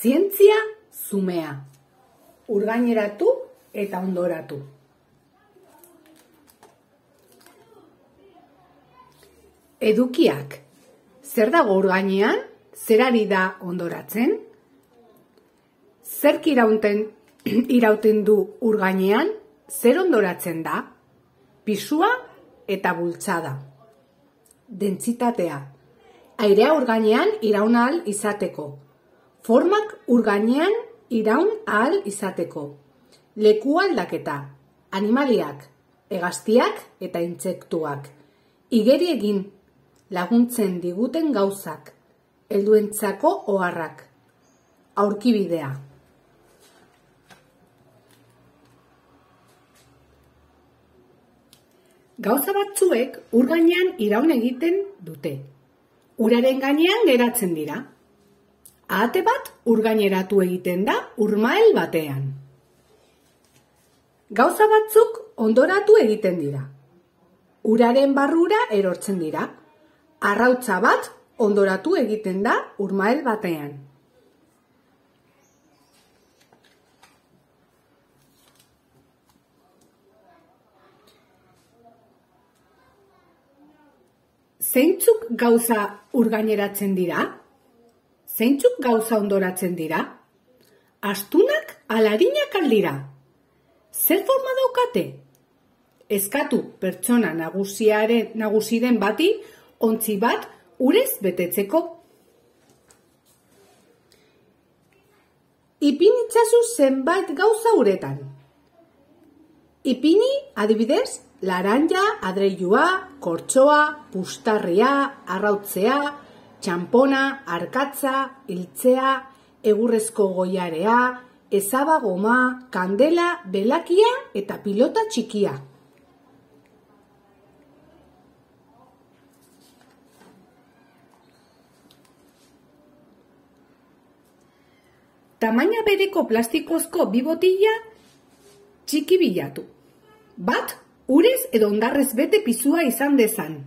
Zientzia zumea. Urgaineratu eta ondoratu. Edukiak. Zer dago urgainean? Zer ari da ondoratzen? Zerk irauten du urgainean? Zer ondoratzen da? Pisua eta bultzada. Dentsitatea. Airea urgainean iraun ahal izateko. Formak urgainean iraun ahal izateko. Leku aldaketa. Animaliak, hegaztiak eta intsektuak. Igeri egin laguntzen diguten gauzak. Helduentzako oharrak. Aurkibidea. Gauza batzuek ur gainean iraun egiten dute. Uraren gainean geratzen dira. Ahate bat ur gaineratu egiten da urmael batean. Gauza batzuk ondoratu egiten dira. Uraren barrura erortzen dira. Arrautza bat ondoratu egiten da urmael batean. Zeintzuk gauza urgaineratzen dira? Zeintzuk gauza ondoratzen dira? Astunak ala arinak al dira? Zer forma daukate? Eskatu pertsona nagusiren bati ontzi bat urez betetzeko. Ipini itzazu zenbait gauza uretan. Ipini, adibidez, laranja, adreilua, kortxoa, pustarria, arrautzea, txampona, arkatza, hiltzea, egurrezko goiarea, ezaba goma, kandela, belakia eta pilota txikia. Tamaina bereko plastikozko bi botila txiki bilatu. Bat, urez edo hondarrez bete pisua izan dezan.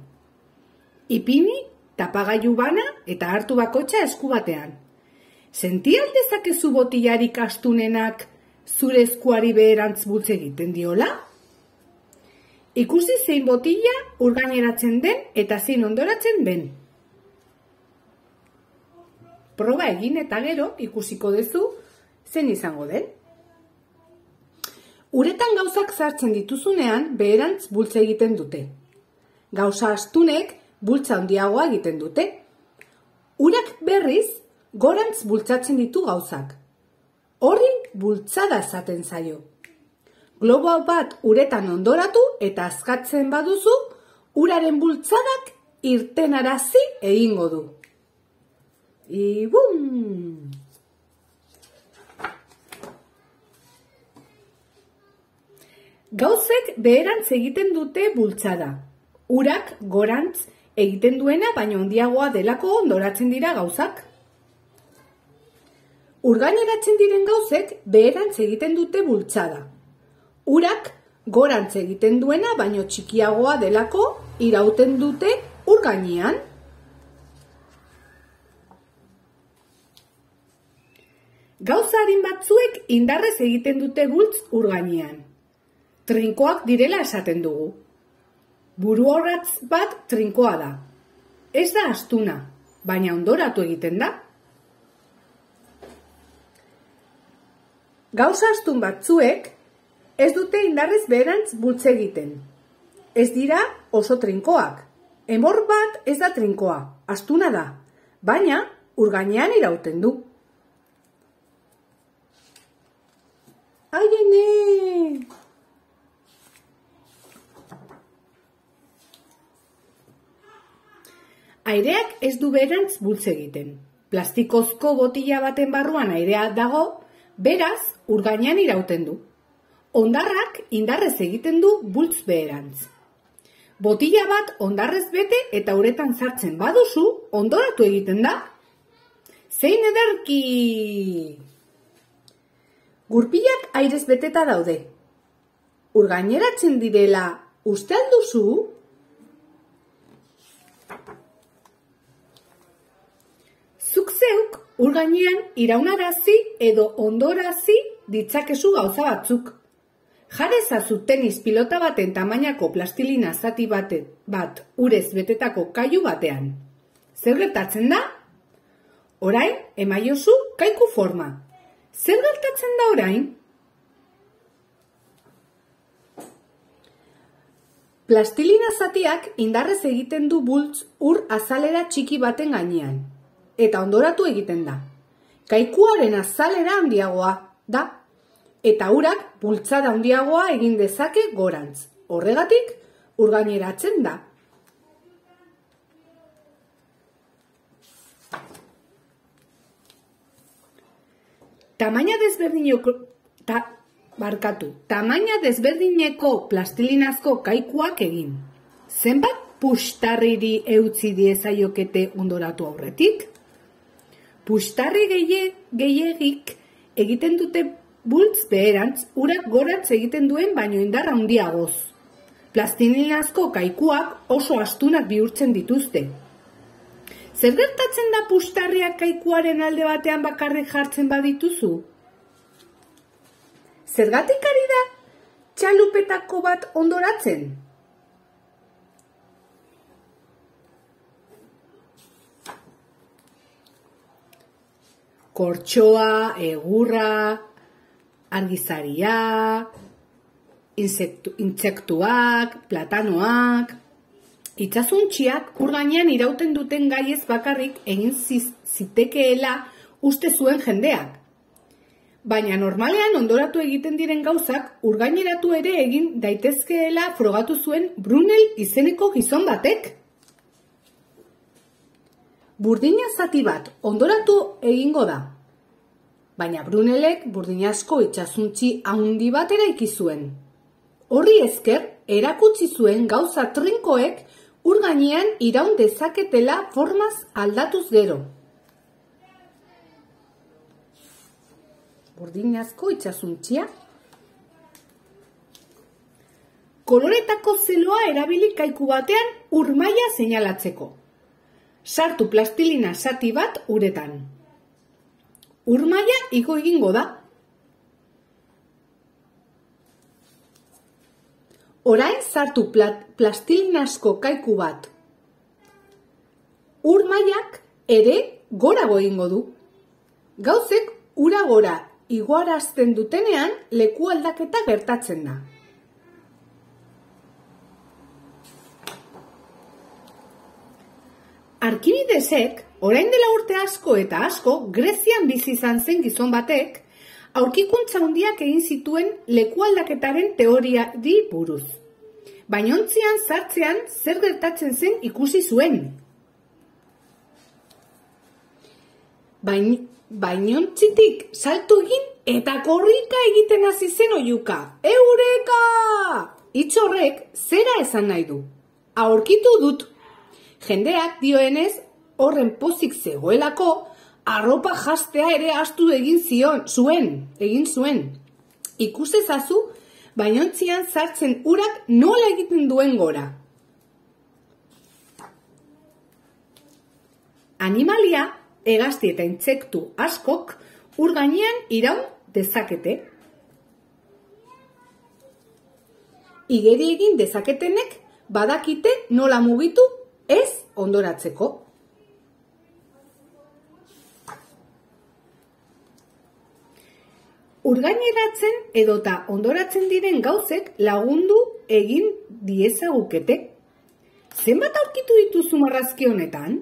Ipini, tapagailu bana eta hartu bakotxa esku batean. Senti aldezakezu botilarik astunenak zure eskuari beherantz bultz egiten diola? Ikusi zein botila urgaineratzen den eta zein ondoratzen den. Proba egin eta gero ikusiko duzu zen izango den. Uretan gauzak sartzen dituzunean beherantz bultza egiten dute. Gauza astunek bultza handiagoa egiten dute. Urak berriz gorantz bultzatzen ditu gauzak. Horri bultzada esaten zaio. Globo bat uretan ondoratu eta askatzen baduzu, uraren bultzadak irtenarazi egingo du. Ibum! Gauzek beherantz egiten dute bultzada. Urak gorantz egiten duena baino handiagoa delako ondoratzen dira gauzak. Urgaineratzen diren gauzek beherantz egiten dute bultzada. Urak gorantz egiten duena baino txikiagoa delako irauten dute urgainean. Gauza arin batzuek indarrez egiten dute bultz urgainean. Trinkoak direla esaten dugu. Buruorratz bat trinkoa da. Ez da astuna, baina ondoratu egiten da. Gauza astun batzuek ez dute indarrez beherantz bultz egiten. Ez dira oso trinkoak. Enbor bat ez da trinkoa, astuna da, baina urgainean irauten du. Ai, ene! Aireak ez du beherantz bultz egiten. Plastikozko botila baten barruan airea dago, beraz, urgainean irauten du. Hondarrak indarrez egiten du bultz beherantz. Botila bat hondarrez bete eta uretan sartzen baduzu, ondoratu egiten da. Zein ederki! Gurpilak airez beteta daude. Urgaineratzen direla uste al duzu? Zuk zeuk ur gainean iraunarazi edo ondorazi ditzakezu gauza batzuk. Jarezazu tenis pilota baten tamainako plastilina zati bat urez betetako kailu batean. Zer gertatzen da? Orain, emaiozu kaiku forma. Zer gertatzen da orain? Plastilina zatiak indarrez egiten du bultz ur azalera txiki baten gainean. Eta ondoratu egiten da. Kaikuaren azalera handiagoa da. Eta urak bultzada handiagoa egin dezake gorantz. Horregatik, ur gaineratzen da. Tamaina desberdineko plastilinazko kaikuak egin. Zenbat puxtarriri eutzi diezaiokete ondoratu aurretik? Puxtarri gehiegik egiten dute bultz beherantz, urak gorantz egiten duen baino indarra handiagoz. Plastilinazko kaikuak oso astunak bihurtzen dituzte. Zer gertatzen da puxtarriak kaikuaren alde batean bakarrik jartzen badituzu? Zergatik ari da txalupetako bat ondoratzen? Kortxoa, egurra, argizaria, intsektuak, platanoak, itsasontziak ur gainean irauten duten gaiez bakarrik egin zitekeela uste zuen jendeak. Baina normalean ondoratu egiten diren gauzak ur gaineratu ere egin daitezkeela frogatu zuen Brunel izeneko gizon batek. Burdina zati bat ondoratu egingo da. Baina Brunelek burdinazko itsasontzi handi bat eraiki zuen. Horri esker, erakutsi zuen gauza trinkoek ur gainean iraun dezaketela formaz aldatuz gero. Burdinazko itsasontzia. Koloretako zeloa erabili kaiku batean ur maila seinalatzeko. Sartu plastilina zati bat uretan. Ur maila igo egingo da. Orain sartu plastilinazko kaiku bat. Ur mailak ere gorago egingo du. Gauzek ura gora igoarazten dutenean leku aldaketa gertatzen da. Arkimidesek, orain dela urte asko eta asko, Grezian bizi izan zen gizon batek, aurkikuntza handiak egin zituen leku aldaketaren teoriari buruz. Bainontzian sartzean zer gertatzen zen ikusi zuen. Bainontzitik salto egin eta korrika egiten hasi zen oihuka. Eureka! Hitz horrek zera esan nahi du. Aurkitu dut. Jendeak dioenez horren pozik zegoelako, arropa jastea ere astu egin zuen. Ikusezazu, bainontzian sartzen urak nola egiten duen gora. Animalia, hegazti eta intsektu askok ur gainean iraun dezakete. Igeri egin dezaketenek badakite nola mugitu ez ondoratzeko. Urgaineratzen edota ondoratzen diren gauzek lagundu egin diezagukete. Zenbat aurkitu dituzu marrazki honetan?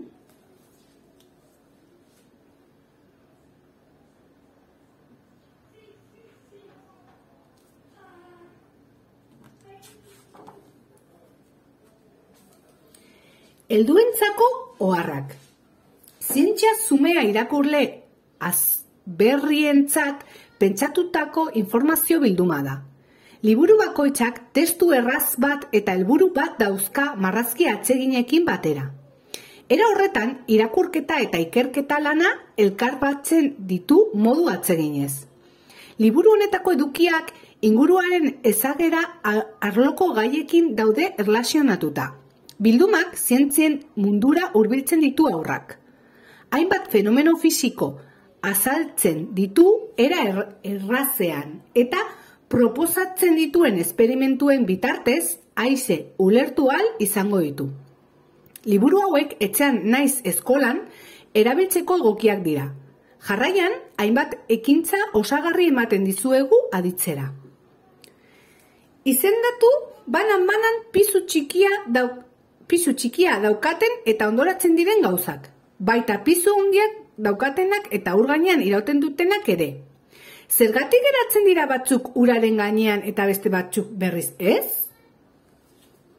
Helduentzako oharrak. Zientzia zumea irakurle azberrientzat pentsatutako informazio bilduma da. Liburu bakoitzak testu erraz bat eta helburu bat dauzka marrazki atseginekin batera. Era horretan, irakurketa eta ikerketa lana elkar batzen ditu modu atseginez. Liburu honetako edukiak inguruaren ezagera arloko gaiekin daude erlazionatuta. Bildumak zientzien mundura hurbiltzen ditu haurrak. hainbat fenomeno fisiko azaltzen ditu era errazean eta proposatzen dituen esperimentuen bitartez haize ulertu ahal izango ditu. Liburu hauek etxean naiz eskolan erabiltzeko egokiak dira. Jarraian, hainbat ekintza osagarri ematen dizuegu aditzera. Izendatu banan pisu txikia daukaten eta ondoratzen diren gauzak. Baita pisu handiak daukatenak eta ur gainean irauten dutenak ere. Zergatik geratzen dira batzuk uraren gainean eta beste batzuk berriz ez?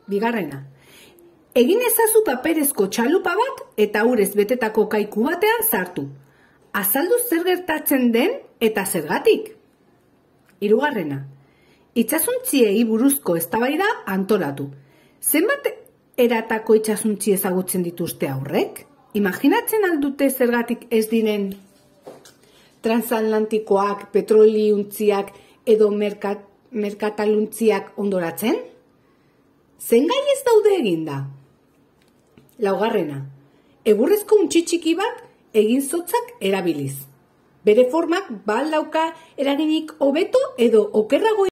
Bigarrena. Egin ezazu paperezko txalupa bat eta urez betetako kaiku batean sartu. Azaldu zer gertatzen den eta zergatik. Hirugarrena. Itsasontziei buruzko eztabaida antolatu. Zenbat eratako itsasontzi ezagutzen dituzte aurrek? Imaginatzen aldute zergatik ez diren transatlantikoak, petroliuntziak edo merkataluntziak ondoratzen? Zen gai ez daude eginda? Laugarrena. Egurrezko untxi txiki bat egin zotzak erabiliz. Bere formak ba al dauka eraginik hobeto edo okerrago